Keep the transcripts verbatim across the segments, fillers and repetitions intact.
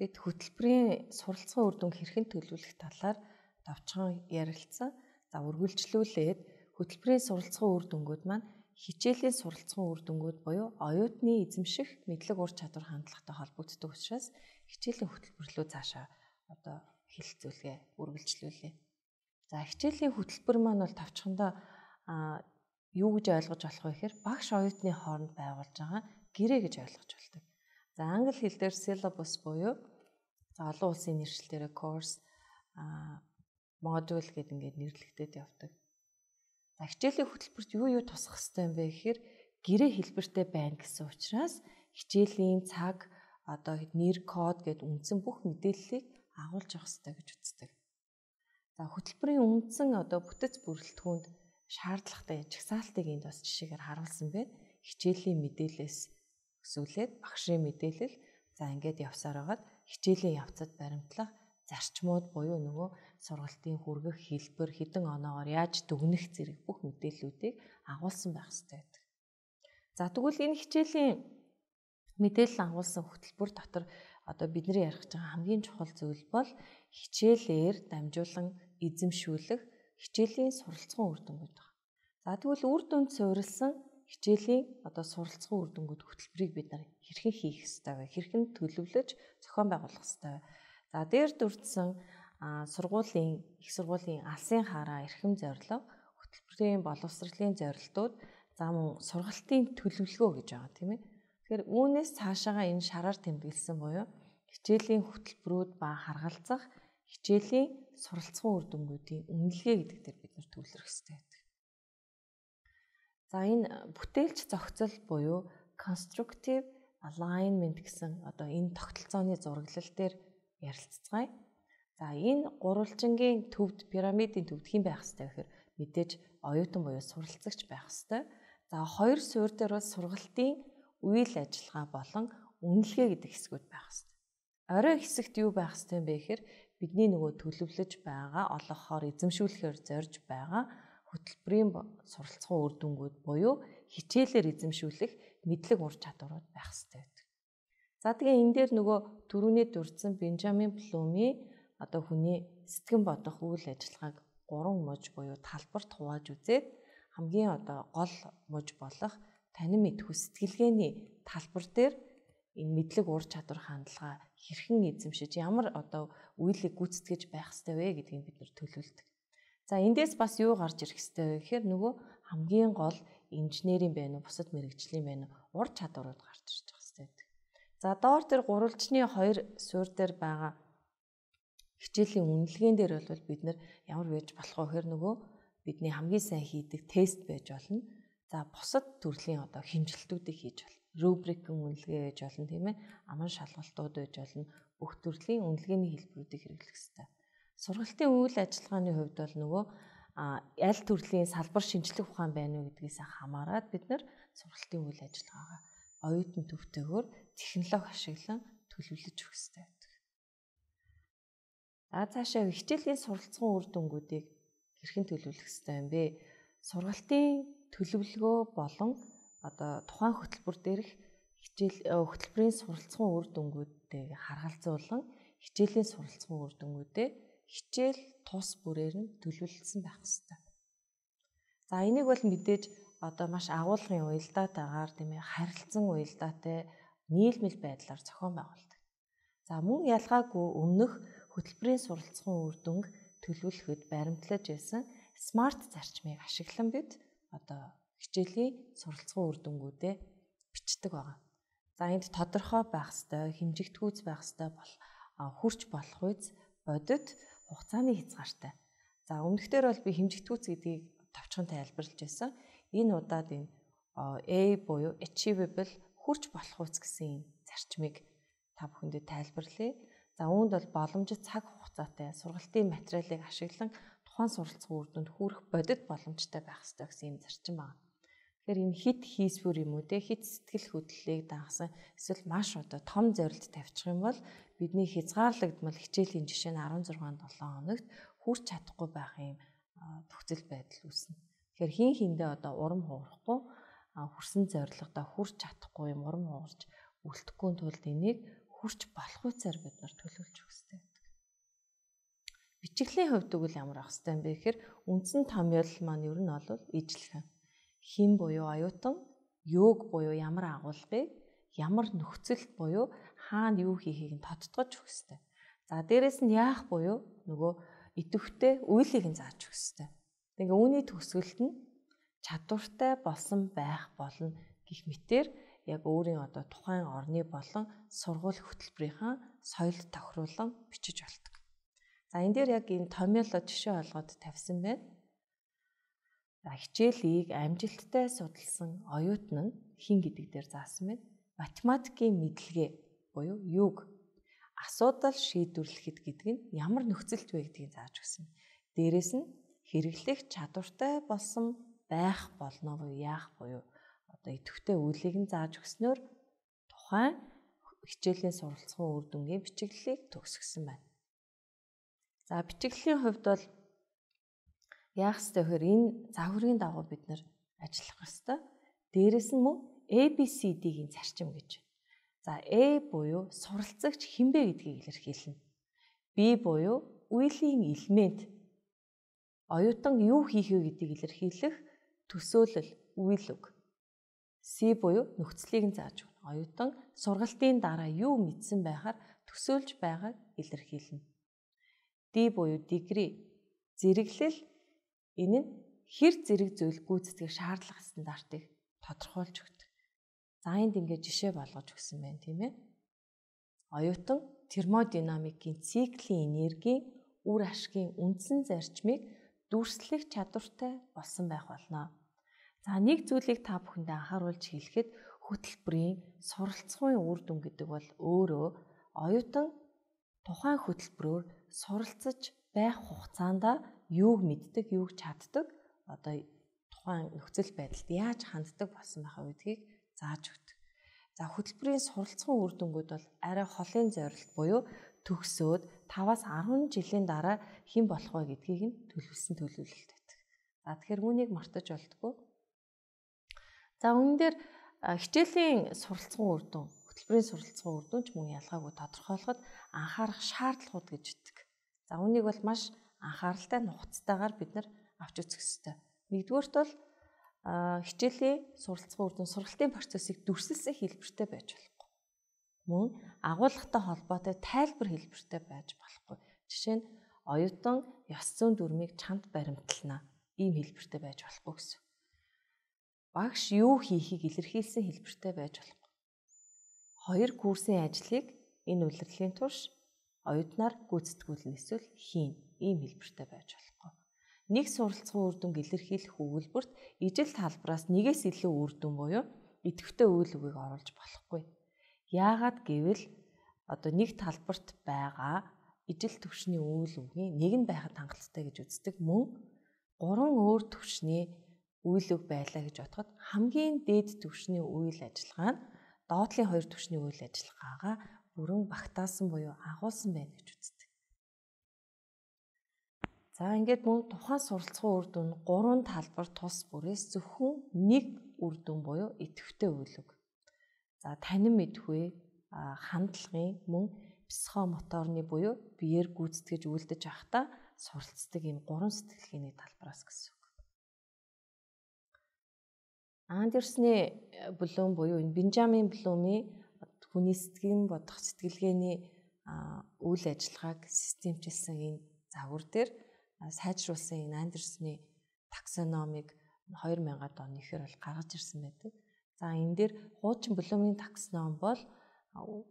Бид хөтөлбөрийн суралцсан үр дүнг хэрхэн төлөвлөх талаар давчхан ярилцсан. За үргэлжлүүлээд хөтөлбөрийн суралцсан үр дүнгууд маань хичээлийн суралцсан үр дүнгууд буюу оюутны эзэмших мэдлэг ур чадвар хандлагатай холбогддог учраас хичээлийн хөтөлбөрлөө цаашаа одоо хэлэлцүүлгээ үргэлжлүүлээ. За хичээлийн хөтөлбөр маань бол тавчхандаа юу гэж ойлгож болох вэ гэхээр багш оюутны хооронд байгуулж байгаа гэрээ гэж ойлгож болдог. За англи хэл дээр syllabus буюу за олон улсын нэршилтээр course модуль гэдэг ингээд нэрлэгдээд явдаг. За хичээлийн хөтөлбөрт юу юу тусах хэрэгтэй юм бэ гэхээр гэрээ хэлбэртэй байна гэсэн учраас хичээлийн цаг одоо нэр код гэдэг үндсэн бүх мэдээллийг агуулж явах хэрэгтэй гэж үздэг. За хөтөлбөрийн үндсэн одоо бүтэц бүрэлдэхүүнд шаардлагатай жагсаалтыг энд бас жишээгээр харуулсан байна. Хичээлийн мэдээлэлээс өсвөлээд багшийн мэдээлэл за ингээд явсаар хагаад хичээлийн явцад баримтлах зарчмууд буюу нөгөө сургалтын хүргэх хэлбэр хэдэн оноогоор яаж дүгнэх зэрэг бүх мэдээллүүдийг агуулсан байх хэрэгтэй байдаг. За тэгвэл энэ хичээлийн мэдээлэл агуулсан хөтөлбөр дотор одоо бидний ярих гэж байгаа хамгийн чухал зүйл бол хичээлээр дамжуулан эзэмшүүлэх хичээлийн суралцсан үр дүнгууд байна. За тэгвэл үр дүнд суурилсан хичээлийн одоо суралцсан үр дүнгууд хөтөлбөрийг бид нар хэрхэн хийх ёстой вэ? Хэрхэн төлөвлөж зохион байгуулах ёстой вэ? За дээр дурдсан сургуулийн их сургуулийн алсын хараа эрхэм зорилго, хөтөлбөрийн боловсролын зорилтууд, за мөн сургалтын төлөвлөгөө гэж байгаа тийм ээ. Тэгэхээр үүнээс цаашаага энэ шараар тэмдэглэсэн буюу хичээлийн хөтөлбөрүүд ба харгалзах хичээлийн суралцсан үр дүнгуудын үнэлгээ гэдэг дээр бид нар төвлөрөх ёстой байдаг. За энэ бүтээлч зохицол буюу constructive alignment гэсэн одоо энэ тогтолцооны зураглал дээр ярилцгаая. За энэ гурвалжингийн төвд пирамидын төвд хэн байх ёстой гэхээр мэдээж оюутан буюу суралцагч байх ёстой. За хоёр суурь дээр бол сургалтын үйл ажиллагаа болон үнэлгээ гэдэг хэсгүүд байх ёстой. Орой хэсэгт юу байх ёстой юм бэ гэхээр бидний нөгөө төлөвлөж байгаа олгохоор эзэмшүүлэхээр зорж байгаа хөтөлбөрийн суралцсан үр дүнгууд буюу хичээлээр эзэмшүүлэх мэдлэг ур чадварууд байх ёстой байдаг. За тэгээ энэ дээр нөгөө түрүүний дурдсан Бенжамин Блумийн одоо хүний сэтгэн бодох үйл ажиллагааг гурван муж буюу талбарт хувааж үзээд хамгийн одоо гол муж болох танин мэдхүй сэтгэлгээний талбар дээр энэ мэдлэг ур чадвар хандлага хэрхэн эзэмшиж ямар одоо үйлийг гүйцэтгэж байх ёстой вэ гэдгийг бид нэр төлөвлөдөг. За эндээс бас юу гарч ирэх ёстой вэ гэхээр нөгөө хамгийн гол инженерийн байна уу, бусад мэрэгжлийн байна уу, ур чадварууд гарч ирж байгаа ёстой байдаг. За доор тэр гурвалжны хоёр суурь дээр байгаа хичээлийн үнэлгээнд дээр бол бид нар ямар байж болох вэ гэхээр нөгөө бидний хамгийн сайн хийдэг тест байж болно. За бусад төрлийн одоо хэмжилтүүдийг хийж болно. Рубрикийн үнэлгээ байж болно тийм ээ. Аман шалгалтууд байж болно. Бүх төрлийн үнэлгээний хэлбэрүүдийг хэрэглэх ёстой. Сургалтын үйл ажиллагааны хувьд бол нөгөө аль төрлийн салбар шинжлэх ухаан байна уу гэдгээс хамаарат бид нар сургалтын үйл ажиллагаагаа оюутан төвтэйгээр технологи ашиглан төлөвлөж өгөх ёстой байдаг. За цаашаа хичээлийн суралцсан үр дүнгуудыг хэрхэн төлөвлөх ёстой юм бэ? Сургалтын төлөвлөгөө болон одоо тухайн хөтөлбөр дээрх хичээл хөтөлбөрийн суралцсан үр дүнгуудыг харгалзуулан хичээлийн суралцсан үр дүнгуудээ хичээл тус бүрээр нь төлөвлөсөн байх ёстой. За энийг бол мэдээж одоо маш агуулгын уялдаатайгаар тийм ээ харилцан уялдаатай нийлмэл байдлаар зохион байгуулдаг. За мөн ялгаагүй өмнөх хөтөлбөрийн суралцсан үр дүнг төлөвлөхөд баримтлаж байсан смарт зарчмыг ашиглан бид одоо хичээлийн суралцсан үр дүнгуудээ бичдэг байгаа. За энд тодорхой байх ёстой, хэмжигдэхүйц байх ёстой бол хүрч болох үз бодит хугацааны хязгаартай. За өмнөхдөр бол би хэмжигдэхүйц гэдгийг товчхон тайлбарлаж байсан. Энэ удаад энэ A буюу achievable хүрч болох үз гэсэн энэ зарчмыг та бүхэндээ тайлбарлая. За үүнд бол боломжит цаг хугацаатай сургалтын материалыг ашиглан тухайн суралцсан үр дүнд хүрэх бодит боломжтой байх ёстой гэсэн юм зарчим байна. Тэгэхээр энэ хит хийсвэр юм уу те хит сэтгэл хөдлөлийг дагасан эсвэл маш одоо том зорилт тавьчих юм бол бидний хязгаарлагдмал хичээлийн жишээ нь арван зургаан долоон хоногт хүрч чадахгүй байх юм төгсөл байдал үүснэ. Тэгэхээр хин хиндээ одоо урам хуурахгүй хүрсэн зорилгодоо хүрч чадахгүй юм урам хуурч үлдэхгүй тулд энийг хүрч болох үсээр бид нар төлөвлөж өгөх хэрэгтэй байдаг. Бичиглийн хувьд үгүй ямар ах хэвтэй юм бэ гэхээр үндсэн томьёол маань ер нь бол ижлэх. Хин буюу оюутан, юуг буюу ямар агуулгыг, ямар нөхцөлд буюу хаана юу хийхийг нь тодтогч өгөх хэрэгтэй. За дээрэс нь яах буюу нөгөө идэвхтэй үйлийг нь зааж өгөх хэрэгтэй. Тэгээ үүний төгсгөлт нь чадвартай болсон байх болно гэх мэтээр яг өөрийн одоо тухайн орны болон сургууль хөтөлбөрийнхаа соёлд тохируулан бичиж болдог. За энэ дээр яг энэ томьёолоо жишээ олгоод тавьсан байна. За хичээлийг амжилттай судалсан оюутан нь хин гэдэг дээр заасан байна. Математикийн мэдлэгээ буюу юг асуудал шийдвэрлэхэд гэдэг нь ямар нөхцөлд вэ гэдгийг зааж өгсөн. Дээрээс нь хэрэглэх чадвартай болсон байх болно буюу яах буюу одоо идэвхтэй үйлийг нь зааж өгснөөр тухайн хичээлийн суралцсан үр дүнгийн бичиглэлийг төгсгсөн байна. За бичиглэлийн хувьд бол яах ёстой вэ? Энэ загварын дагуу бид нар ажиллах ёстой. Дээрээс нь мөн A B C D-ийн зарчим гэж. За A буюу суралцагч хинбэ гэдгийг илэрхийлнэ. B буюу үеийн элемент оюутан юу хийх вэ гэдгийг илэрхийлэх төсөөлөл үйл үг. C буюу нөхцөлийг нь зааж өгнө. Оюутан сургалтын дараа юу мэдсэн байхаар төсөөлж байгааг илэрхийлнэ. D буюу degree зэрэглэл энэ нь хэр зэрэг зүйл гүйцэтгэх шаардлага стандартыг тодорхойлж өгдөг. За энд ингээд жишээ болгож өгсөн байна тийм ээ. Оюутан термодинамикийн циклийн энергийн үр ашгийн үндсэн зарчмыг дүрслэх чадвартай болсон байх болно. За нэг зүйлийг та бүхэндээ анхааруулж хэлэхэд хөтөлбөрийн суралцсан үр дүн гэдэг бол өөрөө оюутан тухайн хөтөлбөрөөр суралцаж байх хугацаанд юуг мэддэг, юуг чаддаг, одоо тухайн нөхцөл байдалд яаж ханддаг болсон байхаа гэдгийг зааж өгдөг. За хөтөлбөрийн суралцсан үр дүнгууд бол арай холын зорилт буюу төгсөөд таваас арван жилийн дараа хэн болох вэ гэдгийг нь төлөвлөсөн төлөвлөлт байдаг. За тэгэхээр үүнийг мартаж болтгоо. За үүн дээр хичээлийн суралцсан үр дүн, хөтөлбөрийн суралцсан үр дүн ч мөн ялгаагүй тодорхойлоход анхаарах шаардлагууд гэж өгдөг. За үүнийг бол маш анхааралтай нухацтайгаар бид нар авч үзэх ёстой. Нэгдүгээрт бол хичээлийн суралцсан үр дүн сургалтын процессыг дүрсэлсэн хэлбэртэй байж болохгүй. Мөн агуулгатай холбоотой тайлбар хэлбэртэй байж болохгүй. Жишээ нь оюутан ёс зүйн дүрмийг чамд баримтлана. Ийм хэлбэртэй байж болохгүй гэсэн. Багш юу хийхийг илэрхийлсэн хэлбэртэй байж болохгүй. Хоёр курсын ажлыг энэ улирлын турш оюутнаар гүйцэтгүүлнэ эсвэл хийн. Ийм хэлбэртэй байж болохгүй. Нэг суралцсан үр дүнг илэрхийлэх өгүүлбэрт ижил талбараас нэгээс илүү үр дүн буюу идэвхтэй үйл үгийг оруулж болохгүй. Яагаад гэвэл одоо нэг талбарт байгаа ижил түвшний үйл үгийн нэг нь байхад хангалттай гэж үздэг мөн гурван өөр түвшний үйл үг байлаа гэж бодоход хамгийн дээд түвшний үйл ажиллагаа нь доотлын хоёр түвшний үйл ажиллагаагаа бүрэн багтаасан буюу агуулсан байна гэж үздэг. За ингээд мөн тухайн суралцсан үр дүн гурван талбар тус бүрээс зөвхөн нэг үр дүн буюу идэвхтэй үйл үг. За танин мэдхүй хандлагын мөн психомоторны буюу биеэр гүйцэтгэж үйлдэж явахдаа суралцдаг ийм гурван сэтгэлгээний талбараас гэсэн үг. Андерсны Блум буюу энэ Бенжамин Блумын хүний сэтгэн бодох сэтгэлгээний үйл ажиллагааг системчилсэн энэ загвар дээр сайжруулсан энэ Андерсны таксономиг хоёр мянган оны ихэр бол гаргаж ирсэн байдаг. За энэ дээр хуучин Блумын таксоном бол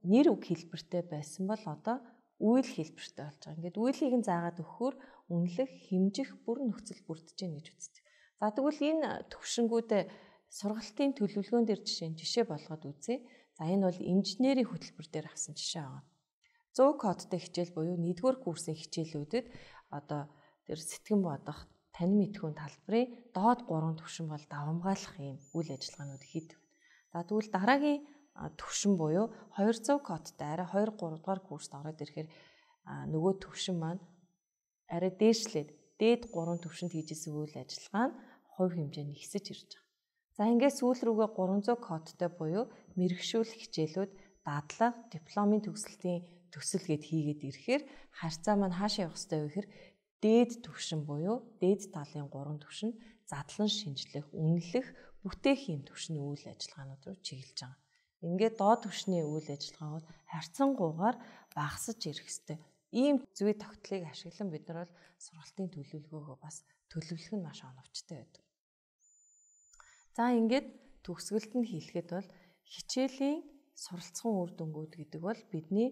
нэр үг хэлбэртэй байсан бол одоо үйл хэлбэртэй болж байгаа. Ингээд үйлийг нь заагаад өгөхөөр үнэлэх, хэмжих бүр нөхцөл бүрдэж гэнэ гэж үздэг. За тэгвэл энэ төвшингүүдээ сургалтын төлөвлөгөөн дээр жишээ жишээ болгоод үзье. За энэ бол инженерийн хөтөлбөр дээр авсан жишээ байгаа. сто кодтой хичээл буюу нэгдүгээр курсын хичээлүүдэд одоо тэр сэтгэн бодох, танин мэдхүйн талбарын доод гурван түвшин бол давамгаалах юм үйл ажиллагаанууд хийдэг. За тэгвэл дараагийн түвшин буюу двухсот кодтой арай хоёр гурав дугаар курст ороод ирэхээр нөгөө түвшин маань арай дээшлээд дээд гурван түвшинд хийжсэн үйл ажиллагаа нь хувь хэмжээнд ихсэж ирж байгаа. За ингээд сүүл рүүгээ гуравсот кодтой буюу мэрэгшүүлэх хичээлүүд дадлага, дипломын төгсөлтийн төсөл гэд хийгээд ирэхээр харьцаа маань хаашаа явах ёстой вэ гэхээр дээд түвшин буюу дээд талын гурван түвшин задлан шинжлэх, үнэлэх, бүтээхийн түвшний үйл ажиллагаанууд руу чиглэж байгаа. Ингээд доод түвшний үйл ажиллагаа бол харьцангуйгаар багасж ирэх ёстой. Ийм зүй тогтолцоог ашиглан бид нар бол сургалтын төлөвлөгөөгөө бас төлөвлөх нь маш оновчтой байдаг. За ингээд төгсгөлд нь хэлэхэд бол хичээлийн суралцсан үр дүнгууд гэдэг бол бидний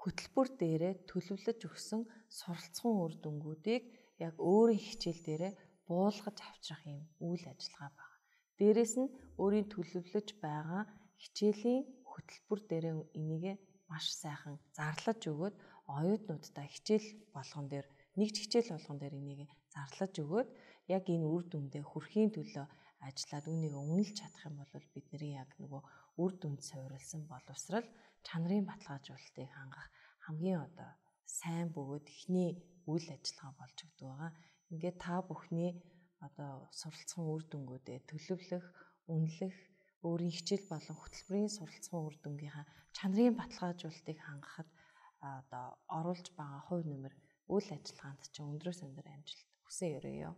хөтөлбөр дээрээ төлөвлөж өгсөн суралцсан үр дүнгуудыг яг өөрийн хичээл дээрээ буулгаж авчрах юм үйл ажиллагаа байна. Дээрээс нь өөрийн төлөвлөж байгаа хичээлийн хөтөлбөр дээрээ энийг маш сайхан зарлаж өгөөд оюутнуудтай хичээл болгон дээр нэг хичээл болгон дээр энийг зарлаж өгөөд яг энэ үр дүндээ хүрэхийн төлөө ажиллаад үүнийг үнэлж чадах юм бол бидний яг нөгөө үр дүнд суурилсан боловсрал чанарын баталгаажуулалтыг хангах хамгийн одоо сайн бөгөөд ихний үйл ажиллагаа болж өгдөг байгаа. Ингээд та бүхний одоо суралцсан үр дүнгуудээ төлөвлөх, үнэлэх, өөрийн хичээл болон хөтөлбөрийн суралцсан үр дүнгийнхаа чанарын баталгаажуулалтыг хангахад одоо оруулж байгаа хувь нэмэр үйл ажиллагаанд чинь өндрөөс өндөр амжилт хүсэн өрөөё.